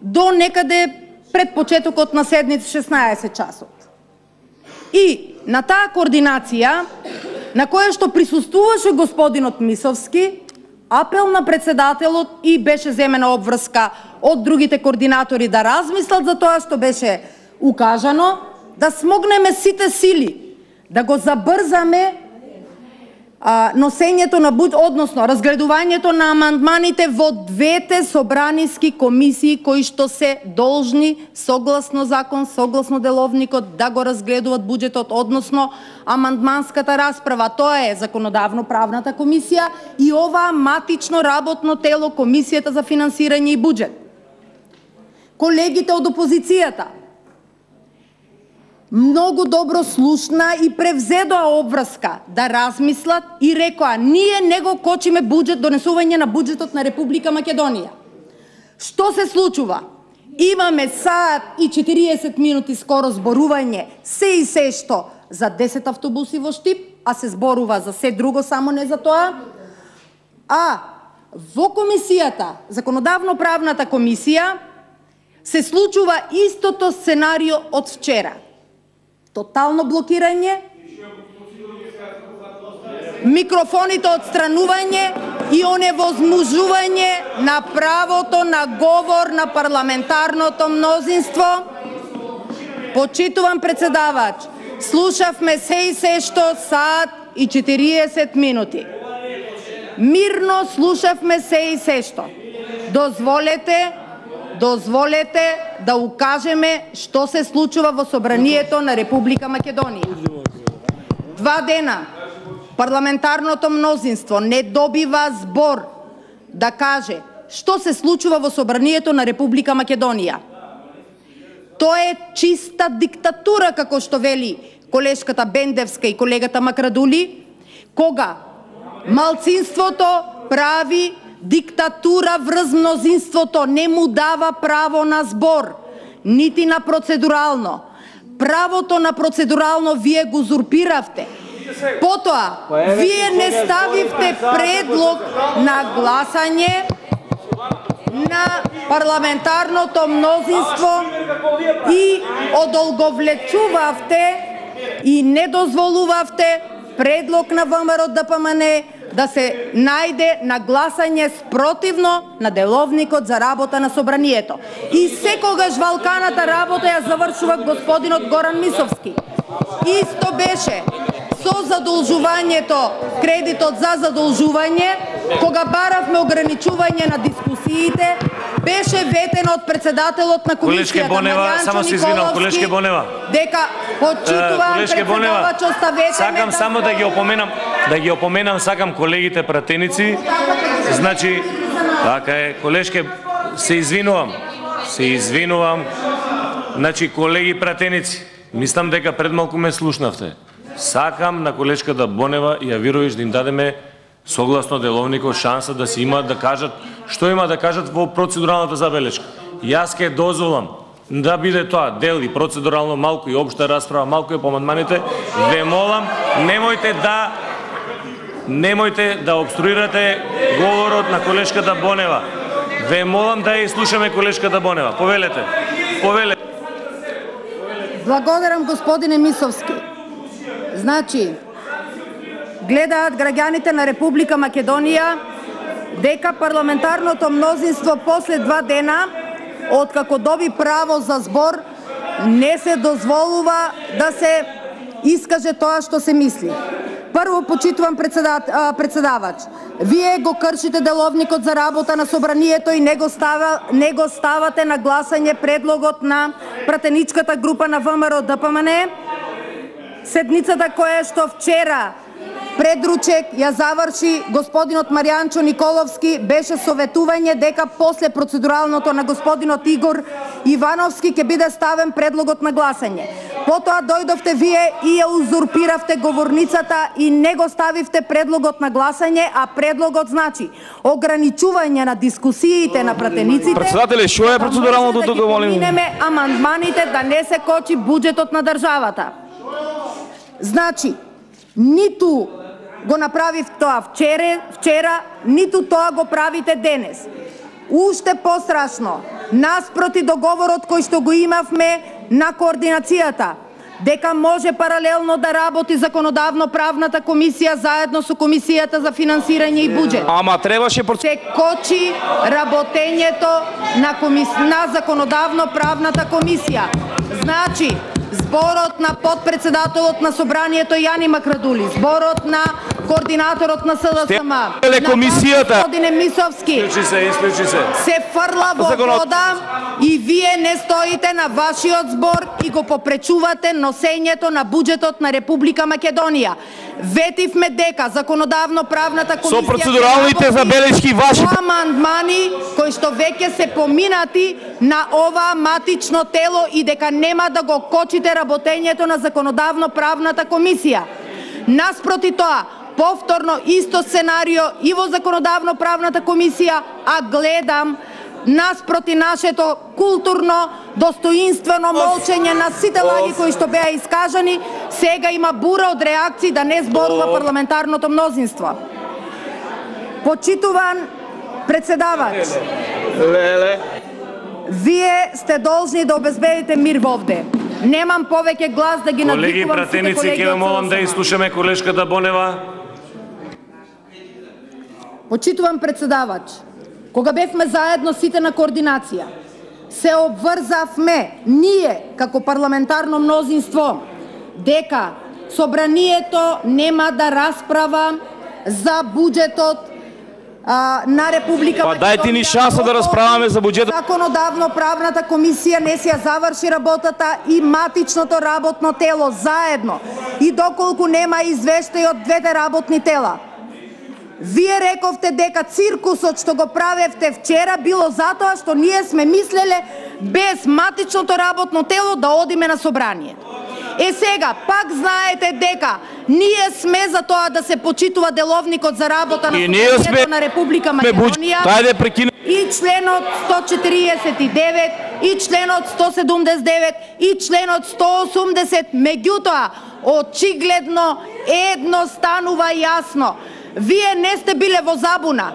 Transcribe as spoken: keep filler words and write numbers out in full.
до некаде пред почетокот на седница шеснаесет часот. И на таа координација, на која што присуствуваше господинот Мисовски, апел на председателот и беше земена обврска од другите координатори да размислат за тоа што беше укажано, да смогнеме сите сили, да го забрзаме а, носењето на буџ, односно разгледувањето на амандманите во двете собраниски комисии кои што се должни согласно закон, согласно деловникот да го разгледуваат буџетот, односно амандманската расправа. Тоа е законодавно-правната комисија и ова матично работно тело Комисијата за финансирање и буџет. Колегите од опозицијата многу добро слушна и превзедоа обврска да размислат и рекоа: ние не го кочиме буџет, донесување на буџетот на Република Македонија. Што се случува? Имаме саат и четириесет минути скоро зборување се и се што за десет автобуси во Штип, а се зборува за се друго, само не за тоа. А во комисијата, законодавно-правната комисија, се случува истото сценарио од вчера. Тотално блокирање, микрофоните отстранување и оневозможување на правото на говор на парламентарното мнозинство. Почитувам председавач, слушавме се и се што саат и четириесет минути. Мирно слушавме се и се што. Дозволете Дозволете да укажеме што се случува во собранието на Република Македонија. Два дена парламентарното мнозинство не добива збор да каже што се случува во собранието на Република Македонија. Тоа е чиста диктатура, како што вели колешката Бендевска и колегата Макрадули, кога малцинството прави диктатура врз мнозинството, не му дава право на збор, нити на процедурално. Правото на процедурално вие го узурпиравте. Потоа, вие не ставивте предлог на гласање на парламентарното мнозинство и одолговлечувавте и не дозволувавте предлог на ВМРО-ДПМН да се најде на гласање спротивно на деловникот за работа на собранието. И секогаш валканата работа ја завршува господинот Горан Мисовски. Исто беше со задолжувањето, кредитот за задолжување, кога баравме ограничување на дискусиите, беше ветено од председателот на комисијата Маријанчо Николовски, дека почитувам председавач, оставете Сакам ме само да ги опоменам, да ги опоменам, сакам колегите пратеници. Значи, така е, колешке, се извинувам. Се извинувам. Значи, колеги пратеници, мислам дека пред малку ме слушнавте. Сакам на колешката Бонева и Јавировиќ да им дадеме согласно деловникот шанса да си имаат да кажат што има да кажат во процедуралната забелешка. Јас ке дозволам да биде тоа дел и процедурално, малку и општа расправа, малку и по амандманите. Ве молам, немојте да немојте да обструирате говорот на колешката Бонева. Ве молам да ја слушаме колешката Бонева. Повелете. Повелете. Благодарам, господине Мисовски. Значи, гледаат граѓаните на Република Македонија дека парламентарното мнозинство после два дена, откако доби право за збор, не се дозволува да се искаже тоа што се мисли. Прво, почитувам председавач. Вие го кршите деловникот за работа на собранието и не го, става, не го ставате на гласање предлогот на пратеничката група на ВМРО-ДПМН. Седницата која што вчера предручек ја заврши господинот Маријанчо Николовски беше советување дека после процедуралното на господинот Игор Ивановски ќе биде ставен предлогот на гласање. Потоа дојдовте вие и ја узурпиравте говорницата и не го ставивте предлогот на гласање, а предлогот значи ограничување на дискусиите на пратениците. Председателе, што е процедуралното тука, молим? Да минеме амандманите да не се кочи буџетот на државата. Значи, ниту го направив тоа вчера, вчера, ниту тоа го правите денес. уште пострашно, наспроти договорот кој што го имавме на координацијата, дека може паралелно да работи законодавно-правната комисија заедно со комисијата за финансирање и буџет. Ама требаше се кочи работењето на комис... на законодавно-правната комисија. Значи, зборот на подпредседателот на собранието Јани Макрадули, зборот на координаторот на СДСМ, на господине Мисовски, Исклучи се, исклучи се. се фрла во вода и вие не стоите на вашиот збор и го попречувате носењето на буџетот на Република Македонија. Ветивме дека законодавно-правната комисија со процедуралните забелешки ваши амандмани кои што веќе се поминати на ова матично тело и дека нема да го кочите работењето на законодавно-правната комисија. Наспроти тоа, повторно исто сценарио и во законодавно-правната комисија, а гледам наспроти нашето културно, достоинствено молчење на сите лаги кои што беа искажани, сега има бура од реакции да не зборува парламентарното мнозинство. Почитуван председавач, Леле. вие сте должни да обезбедите мир вовде. Немам повеќе глас да ги Колеги надвикувам сите пратеници, колеги. ќе молам да изслушаме колешката Бонева. Почитувам председавач, кога бевме заедно сите на координација, се обврзавме ние како парламентарно мнозинство дека собранието нема да расправа за буџетот а, на Република Па дајте ни шанса да расправаме за буџетот. Законодавно-правната комисија не си ја заврши работата и матичното работно тело заедно и доколку нема извештај од двете работни тела. Вие рековте дека циркусот што го правевте вчера било затоа што ние сме мислеле без матичното работно тело да одиме на собрание. Е сега, пак знаете дека ние сме за тоа да се почитува деловникот за работа на собранието на Република Македонија и членот сто четиридесет и девет, и членот сто седумдесет и девет, и членот сто осумдесет. Меѓутоа, очигледно едно станува јасно. Вие не сте биле во забуна.